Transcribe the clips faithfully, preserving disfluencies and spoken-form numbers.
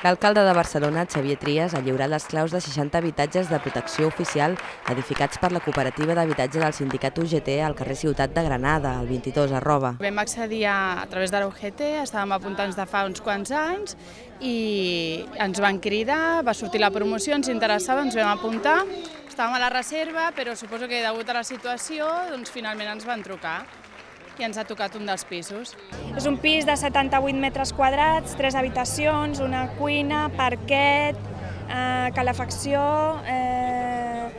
L'alcalde de Barcelona, Xavier Trias, ha lliurat les claus de seixanta habitatges de protecció oficial edificats per la cooperativa d'habitatge del sindicat U G T al carrer Ciutat de Granada, al vint-i-dos arroba. Vam accedir a, a través de la U G T, estàvem apuntats de fa uns quants anys i ens van cridar, va sortir la promoció, ens interessava, ens vam apuntar, estàvem a la reserva, però suposo que degut a la situació doncs, finalment ens van trucar i ens ha tocat un dels pisos. És un pis de setanta-vuit metres quadrats, tres habitacions, una cuina, parquet, eh, calefacció, eh,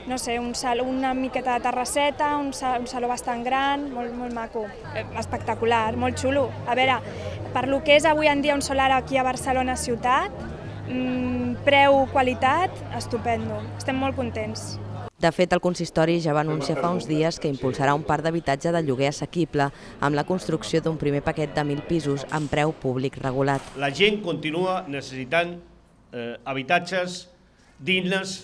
no sé, un sal, una miqueta de terrasseta, un, sal, un saló bastant gran, molt, molt maco, eh, espectacular, molt xulo. A veure, per lo que és avui en dia un solar aquí a Barcelona ciutat, mmm, preu-qualitat, estupendo, estem molt contents. De fet, el consistori ja va anunciar fa uns dies que impulsarà un parc d'habitatge de lloguer assequible amb la construcció d'un primer paquet de mil pisos amb preu públic regulat. La gent continua necessitant eh, habitatges dignes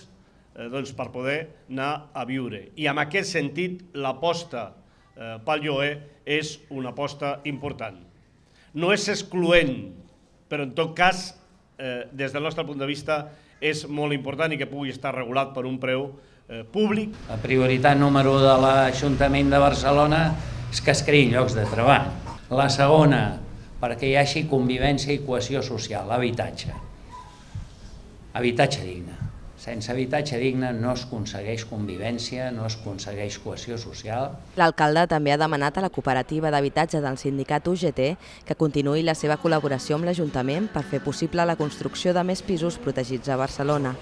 eh, doncs, per poder anar a viure. I en aquest sentit, l'aposta eh, pel lloguer és una aposta important. No és excloent, però en tot cas, eh, des del nostre punt de vista, és molt important i que pugui estar regulat per un preu públic. La prioritat número un de l'Ajuntament de Barcelona és que es creïn llocs de treball. La segona, perquè hi hagi convivència i cohesió social, l'habitatge. Habitatge digne. Sense habitatge digne no es aconsegueix convivència, no es aconsegueix cohesió social. L'alcalde també ha demanat a la cooperativa d'habitatge del sindicat U G T que continuï la seva col·laboració amb l'Ajuntament per fer possible la construcció de més pisos protegits a Barcelona.